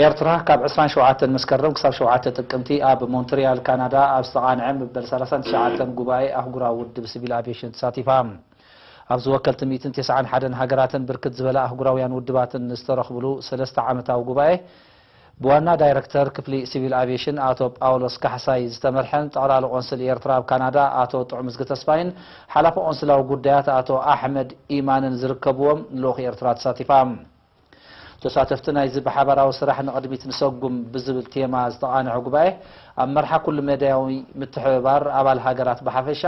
ኤርትራ ካብ ዕስራን ሸውዓተን መስከረም ክሳብ ሸውዓተ ጥቅምቲ ኣብ ሞንትሪያል ካናዳ ኣብ ዝተቓንዐ መበል ሰላሳን ትሽዓተን ጉባኤ ኣህጉራዊ ውድብ ሲቪል ኣቪዬሽን ተሳቲፋ። ኣብዚ ወከልቲ ሚእትን ተስዓን ሓደን ሃገራትን ብርክት ዝበላ ኣህጉራውያን ውድባትን ዝተረኽብሉ ሰለስተ ዓመታዊ ጉባኤ ብዋና ዳይረክተር ክፍሊ ሲቪል ኣቪዬሽን ኣቶ ጳውሎስ ካሕሳይ ዝተመርሐን ጠቕላሊ ቆንስል ኤርትራ ኣብ ካናዳ ኣቶ ጥዑምዝጊ ተስፋይን ሓላፊ ቆንስላዊ ጉዳያት ኣቶ ኣሕመድ ኢማንን ዝርከብዎም ልኡኽ ኤርትራ ተሳቲፋ። ተሳተፍቲ ናይዚ ብሓባራዊ ስራሕ ንቕድሚት ንሰጉም ብዝብል ቴማ ዝተቓንዐ ጉባኤ፣ ኣብ መርሓ ኩሉ መዳያዊ ምትሕብባር ኣባል ሃገራት ብሓፈሻ፣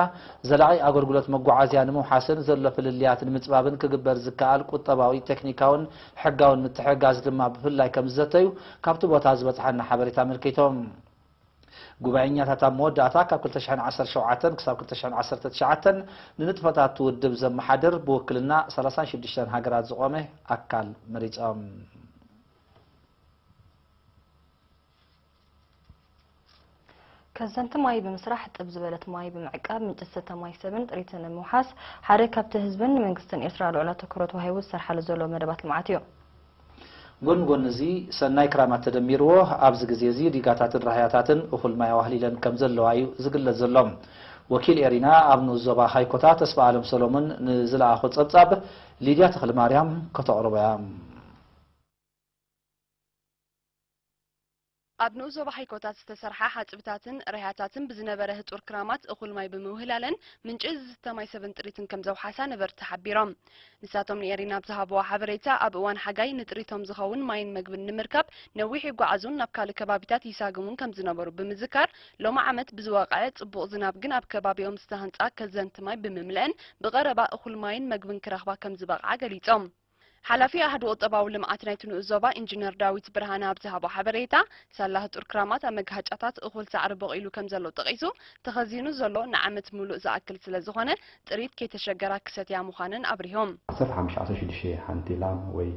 ዘላቒ ኣገልግሎት መጓዓዝያ ንምውሓስን ዘሎ ፍልልያት ንምጽባብን ክግበር ዝከኣል ቁጠባዊ፣ ቴክኒካውን ሕጋውን ምትሕግጋዝ ድማ ብፍላይ ከም ዝዘተዩ ካብቲ ቦታ ዝበጽሓና ሓበሬታ ኣመልኪቶም። ጉባኤኛታት ኣብ መወዳእታ ካብ ክልተ ሽሕን ዓሰርተ ሸውዓተን ክሳብ ክልተ ሽሕን ዓሰርተ ትሽዓተን ንንጥፈታት ውድብ ዘመሓድር ብውክልና ሰላሳን ሽዱሽተን ሃገራት ዝቖመ ኣካል መሪጾም። ከዘንቲ ማይ ብምስራሕ ጥብ ዝበለት ማይ ብምዕቃብ ምንጪ ዝስተ ማይ ሰብን ጥሪትን ንምውሓስ ሓደ ካብቲ ህዝብን መንግስትን ኤርትራ ልዑል ኣተኩሮ ተዋሂቡ ዝሰርሓሉ ዘሎ መደባት ልምዓት እዩ። ጎኒ ጎኒ እዚ ሰናይ ክራማት ተደሚርዎ ኣብዚ ግዜ እዚ ዲጋታትን ራህያታትን እኹል ማይ ኣዋህሊለን ከም ዘለዋ እዩ ዝግለጽ ዘሎ። ወኪል ኤሪና ኣብ ንኡስ ዞባ ሃይኮታ ተስፋ ኣለም ሰሎሞን ንዝለኣኾ ጸብጻብ ሊድያ ተኽለማርያም ከተቕርቦ እያ። ኣብ ንኡስ ዞባ ሃይኮታት ዝተሰርሓ ሓጽብታትን ራህያታትን ብዝነበረ ህጹር ክራማት እኹል ማይ ብምውህላለን ምንጪ ዝስተ ማይ ሰብን ጥሪትን ከም ዘውሓሳ ነበርቲ ሓቢሮም። ንሳቶም ንኤሪና ኣብ ዝሃብዎ ሓበሬታ፣ ኣብ እዋን ሓጋይ ንጥሪቶም ዝኸውን ማይን መግብን ንምርካብ ነዊሕ ይጓዓዙን ናብ ካልእ ከባቢታት ይሳግሙን ከም ዝነበሩ ብምዝካር፣ ሎሚ ዓመት ብዝወቕዐ ጽቡቕ ዝናብ ግን ኣብ ከባቢኦም ዝተሃንጻ ከዘንቲ ማይ ብምምልአን ብቐረባ እኹል ማይን መግብን ክረኽባ ከም ዝበቕዓ ገሊጾም። ሓላፊ ኣሃዱ ቁጠባዊ ልምዓት ናይቲ ንኡስ ዞባ ኢንጂነር ዳዊት ብርሃነ ኣብ ዝሃቦ ሓበሬታ፣ ሳላ ህጹር ክራማት ኣብ መጋሃጫታት እኹል ሳዕሪ በቒሉ ከም ዘሎ ጠቒሱ፣ ተኸዚኑ ዘሎ ንዓመት ምሉእ ዝኣክል ስለ ዝኾነ፣ ጥሪት ከይተሸገራ ክሰትያ ምዃነን ኣብሪሆም። ዓሰርተ ሓሙሽተ ዓሰርተ ሽዱሽተ ሓንቲ ላም ወይ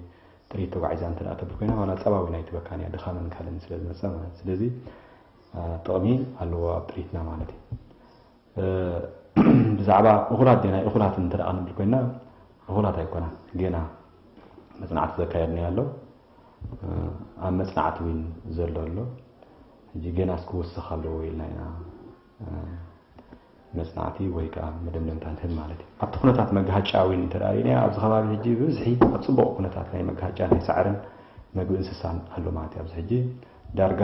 ጥሪት ተጓዒዛ እንተ ደኣ ተብል ኮይና፣ ዋላ ጸባዊ ናይቲ በካንያ ድኻምን ካልእን ስለ ዝመጸ ማለት። ስለዚ፣ አ፣ ጥቕሚ ኣለዎ ኣብ ጥሪትና ማለት እዩ። እ፣ ብዛዕባ እኹላት ዲና እኹላት እንተ ደኣ ክንብል ኮይና፣ እኹላት ኣይኮናን። ገና መጽናዕቲ ዘካየድናዮ ኣሎ። እ፣ ኣብ መጽናዕቲ እውን ዘሎ ኣሎ። ሕጂ ገናስ ክውስኽ ኣለዎ ኢልና ኢና፣ እ፣ መጽናዕቲ ወይ ከኣ መደምደምታ ንህብ ማለት እዩ። ኣብቲ ኩነታት መጋሃጫ እውን እንተ ደኣ ርኢናዮ፣ ኣብዚ ከባቢ ሕጂ ብብዝሒ ኣብ ጽቡቕ ኩነታት ናይ መጋሃጫ ናይ ሳዕርን መግቢ እንስሳን ኣሎ ማለት እዩ። ኣብዚ ሕጂ ዳርጋ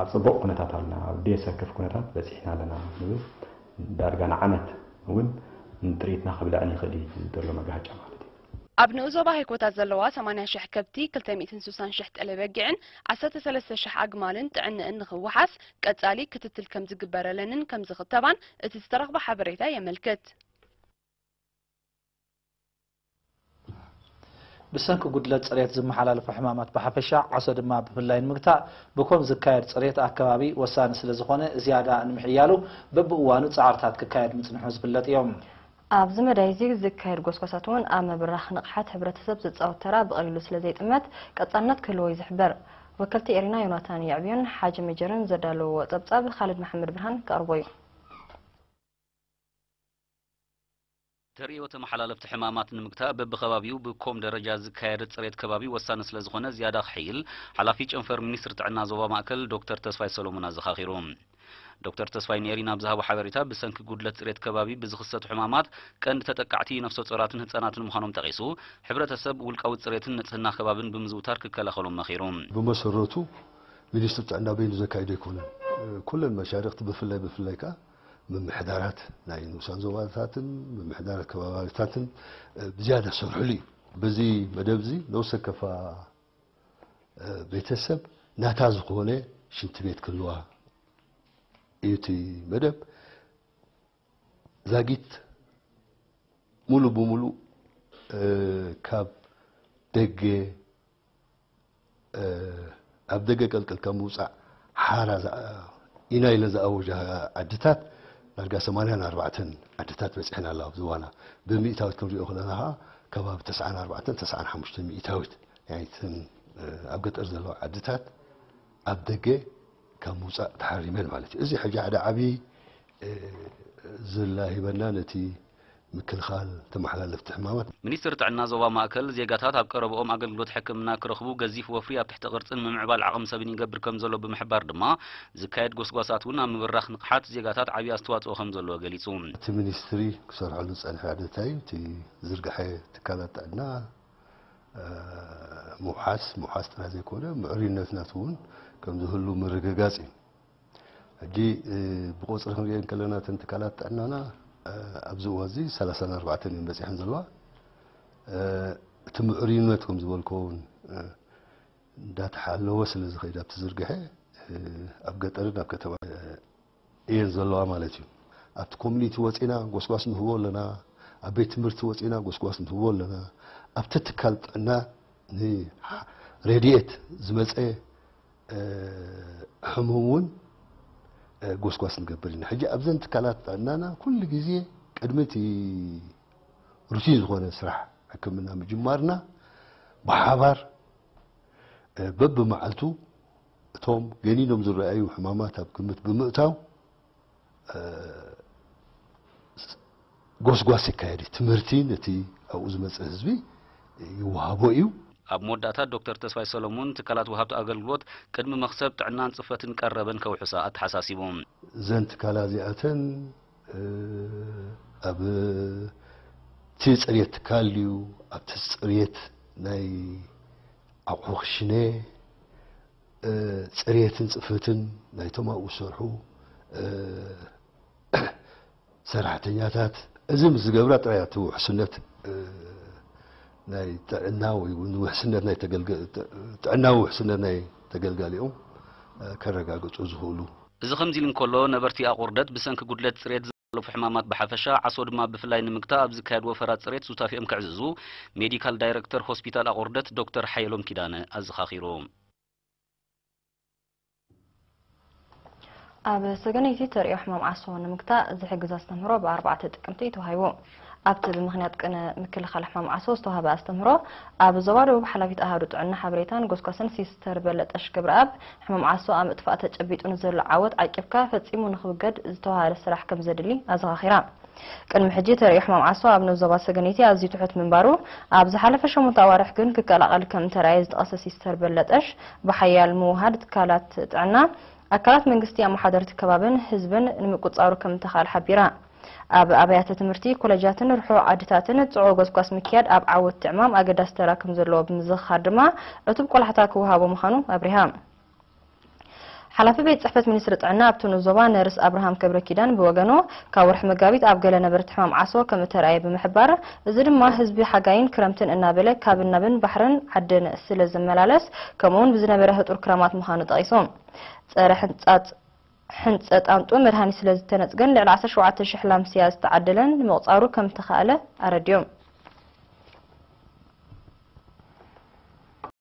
ኣብ ጽቡቕ ኩነታት ኣለና፣ ኣብ ደየሰክፍ ኩነታት በጺሕና ኣለና ንብል። ዳርጋ ንዓመት እውን ንጥሪትና ክብልዐን ይኽእል እዩ፣ እዚ ዘሎ መጋሃጫ ማለት እዩ። ኣብ ንኡስ ዞባ ሃይኮታት ዘለዋ ሰማንያ ሽሕ ከብቲ፣ ክልተ ሚእትን ስሳን ሽሕ ጠለ በጊዕን ዓሰርተ ሰለስተ ሽሕ ኣግማልን ጥዕንእን ንኽወሓስ ቀጻሊ ክትትል ከም ዝግበረለንን ከም ዝኽተባን እቲ ዝተረኽበ ሓበሬታ የመልክት። ብሰንኪ ጉድለት ጽሬት ዝመሓላለፉ ሕማማት ብሓፈሻ፣ ዓሶ ድማ ብፍላይ ንምግታእ፣ ብኮም ዝካየድ ጽሬት ኣከባቢ ወሳኒ ስለ ዝኾነ፣ ዝያዳ ንምሕያሉ በብእዋኑ ጻዕርታት ክካየድ ምጽንሑ ዝፍለጥ እዮም። ኣብዚ መዳይ እዚ ዝካየድ ጎስጓሳት እውን ኣብ ምብራኽ ንቕሓት ሕብረተሰብ ዝጻወት ተራ ብቐሊሉ ስለ ዘይጥመት፣ ቀጻልነት ክህልዎ እዩ ዝሕበር። ወከልቲ ኤሪና ዮናታን የዕብዮን ሓጂ መጀርን ዘዳለውዎ ጸብጻብ፣ ኻልድ መሓመድ ብርሃን ከቕርቦ እዩ። ተርእዮ ተመሓላለፍቲ ሕማማት ንምግታእ በብኸባቢኡ ብኮም ደረጃ ዝካየድ ጽሬት ከባቢ ወሳኒ ስለ ዝኾነ ዝያዳ ክሕይል ሓላፊ ጨንፈር ሚኒስትሪ ጥዕና ዞባ ማእከል ዶክተር ተስፋይ ሰሎሞን ኣዘኻኺሩ። ዶክተር ተስፋይ ንኤሪና ኣብ ዝሃቦ ሓበሬታ ብሰንኪ ጉድለት ጽሬት ከባቢ ብዝኽሰቱ ሕማማት ቀንዲ ተጠቃዕቲ ነፍሰ ጾራትን ህጻናትን ምዃኖም ጠቒሱ፣ ሕብረተሰብ ውልቃዊ ጽሬትን ንጽህና ከባብን ብምዝውታር ክከላኸሎም መኺሩ። ብመሰረቱ ሚኒስትሪ ጥዕና በይኑ ዘካይዶ ኣይኮነን። ኩለን መሻርኽቲ ብፍላይ ብፍላይ ከኣ ምምሕዳራት ናይ ንኡሳን ዞባታትን ምምሕዳራት ከባቢታትን፣ እ፣ ብዝያዳ ዝሰርሕሉ እዩ። በዚ መደብ እዚ ነፍሰ ከፋ፣ እ፣ ቤተሰብ ናታ ዝኾነ ሽንቲ ቤት ክህልዋ እዩ እቲ መደብ። ዛጊት ሙሉ ብሙሉ፣ እ፣ ካብ ደገ፣ እ፣ ኣብ ደገ ቀልቀልካ ምውጻእ ሓራ ዝኣ-፣ ኢና ኢለን ዝኣወጃ ዓድታት ዳርጋ ሰማንያን ኣርባዕተን ዓድታት በጺሐን ኣለዋ። ኣብ ዝዋና ብሚእታዊት ክንሪኦ ከለና ከኣ ከባቢ ተስዓን ኣርባዕተን ተስዓን ሓሙሽተን ሚእታዊት ናይተን፣ እ፣ ኣብ ገጠር ዘለዋ ዓድታት ኣብ ደገ ካብ ምውጻእ ተሓሪመን ማለት እዩ። እዚ ሕጂ ሓደ ዓቢ፣ እ፣ ዝላ ሂበና ነቲ ምክልኻል ተመሓላለፍቲ ሕማማት። ሚኒስትር ጥዕና ዞባ ማእከል፣ ዜጋታት ኣብ ቀረብኦም ኣገልግሎት ሕክምና ክረኽቡ ገዚፍ ወፍሪ ኣብ ትሕቲ ቅርጽን ምምዕባል ዓቕሚ ሰብን ይገብር ከም ዘሎ ብምሕባር ድማ፣ ዝካየድ ጎስጓሳት እውን ኣብ ምብራኽ ንቕሓት ዜጋታት ዓብዪ ኣስተዋጽኦ ከም ዘለዎ ገሊጹ። እቲ ሚኒስትሪ ክሰርሐሉ ዝጸንሐ ሓደ እንታይ እዩ? እቲ ዝርግሐ ትካላት ጥዕና ምውሓስ፣ ምውሓስ ጥራይ ዘይኮነ፣ ምዕሩይነት ናቱ እውን ከም ዝህሉ ምርግጋጽ እዩ። ሕጂ ብቆጽሪ ክንሪኦ እንከለና፣ እተን ትካላት ጥዕናና ኣብዚ እዋን እዚ ሰላሳን ኣርባዕተን እየን በጺሐን ዘለዋ። እቲ ምዕሩይነት ከም ዝበልክዎ እውን እንዳተሓለወ ስለ ዝኸይድ፣ ኣብቲ ዝርግሐ ኣብ ገጠርን ኣብ ከተማ እየን ዘለዋ ማለት እዩ። ኣብቲ ኮሚኒቲ ወጺና ጎስጓስ ንህቦ ኣለና፣ ኣብ ቤት ትምህርቲ ወጺና ጎስጓስ ንህቦ ኣለና። ኣብቲ ትካል ጥዕና ንረድኤት ዝመጸ ሕሙም እውን ጎስጓስ ንገብር ኢና። ሕጂ ኣብዘን ትካላት ጥዕናና ኩሉ ግዜ ቅድሚ እቲ ሩቲን ዝኾነ ስራሕ ሕክምና ምጅማርና፣ ብሓባር በብመዓልቱ እቶም ገኒኖም ዝረኣዩ ሕማማት ኣብ ግምት ብምእታው ጎስጓስ ይካየድ እዩ። ትምህርቲ ነቲ ኣብኡ ዝመጽእ ህዝቢ ይወሃቦ እዩ። ኣብ መወዳእታ ዶክተር ተስፋይ ሰሎሞን ትካላት ወሃብቲ ኣገልግሎት ቅድሚ መኽሰብ ጥዕናን ጽፈትን ቀረበን ከውሕሳ ኣተሓሳሲቡ። እዘን ትካላ እዚኣተን ኣብ እቲ ጽሬት ትካል ድዩ፣ ኣብቲ ጽሬት ናይ ኣቑሑ ክሽነ፣ ጽሬትን ጽፈትን ናይቶም ኣብኡ ዝሰርሑ ሰራሕተኛታት፣ እዚ ምስ ዝገብራ ጥራይ እቲ ውሕስነት ናይ ጥዕና ወይ እውን ውሕስነት ናይ ተገልገ-፣ ጥዕናዊ ውሕስነት ናይ ተገልጋሊኦም ከረጋግጹ ዝኽእሉ። እዚ ከምዚ ኢሉ እንከሎ፣ ነበርቲ ኣቑርደት ብሰንኪ ጉድለት ጽሬት ዝሓለፉ ሕማማት ብሓፈሻ፣ ዓሶ ድማ ብፍላይ ንምግታእ ኣብ ዝካየድ ወፈራ ጽሬት ሱታፌኦም ከዕዝዙ ሜዲካል ዳይረክተር ሆስፒታል ኣቑርደት ዶክተር ሓየሎም ኪዳነ ኣዘኻኺሩ። ኣብ ሰገነይቲ ተርእዮ ሕማም ዓሶ ንምግታእ ዝሕግዝ ኣስተምህሮ ብ ኣርባዕተ ጥቅምቲ እዩ ተዋሂቡ። ኣብቲ ብምኽንያት ቅነ ምክልኻል ሕማም ዓሶ ዝተዋህበ ኣስተምህሮ፣ ኣብ ዞባ ደቡብ ሓላፊት ኣሃዱ ጥዕና ሓበሬታን ጎስጓስን ሲስተር በለጠሽ ገብረኣብ፣ ሕማም ዓሶ ኣብ ምጥፋእ ተጨቢጡ ንዘሎ ዓወት ዓቂብካ ፈጺሙ ንኽውገድ ዝተዋሃደ ስራሕ ከም ዘድሊ ኣዘኻኺራ። ቅድሚ ሕጂ ተርእዮ ሕማም ዓሶ ኣብ ንኡስ ዞባ ሰገነይቲ ኣዝዩ ትሑት ምንባሩ፣ ኣብ ዝሓለፈ ሸሞንተ ኣዋርሕ ግን ክቀላቐል ከም እተራእየ ዝጠቐሰ ሲስተር በለጠሽ፣ ብሓያል ምውሃድ ትካላት ጥዕና፣ ኣካላት መንግስቲ፣ ኣመሓደርቲ ከባብን ህዝብን ንምቁጽጻሩ ከም እተኻእለ ሓቢራ። ኣብ ኣብያተ ትምህርቲ፣ ኮለጃትን ርሑቕ ዓድታትን ጽዑቕ ጎስጓስ ምክያድ ኣብ ዓወት እቲ ዕማም ኣገዳሲ ተራ ከም ዘለዎ ብምዝኽኻር ድማ፣ ዕቱብ ቆላሕታ ክወሃቦ ምዃኑ ኣብሪሃ። ሓላፊ ቤት ጽሕፈት ሚኒስትሪ ጥዕና ኣብቲ ንኡስ ዞባ ነርስ ኣብርሃም ገብረኪዳን ብወገኑ፣ ካብ ወርሒ መጋቢት ኣብ ገለ ነበርቲ ሕማም ዓሶ ከም እተራእየ ብምሕባር፣ እዚ ድማ ህዝቢ ሓጋይን ክረምትን እናበለ ካብን ናብን ባሕርን ዓድን ስለ ዝመላለስ፣ ከምኡውን ብዝነበረ ህጡር ክራማት ምዃኑ ጠቒሱ። ጸረ ሕንጻጽ ሕንጸ ጣንጡ መድሃኒት ስለ ዝተነጽገን ልዕሊ ዓሰርተ ሸውዓተ ሽሕ ላምስያ ዝተዓደለን ንምቑጻሩ ከም እተኻእለ ኣረዲኡ።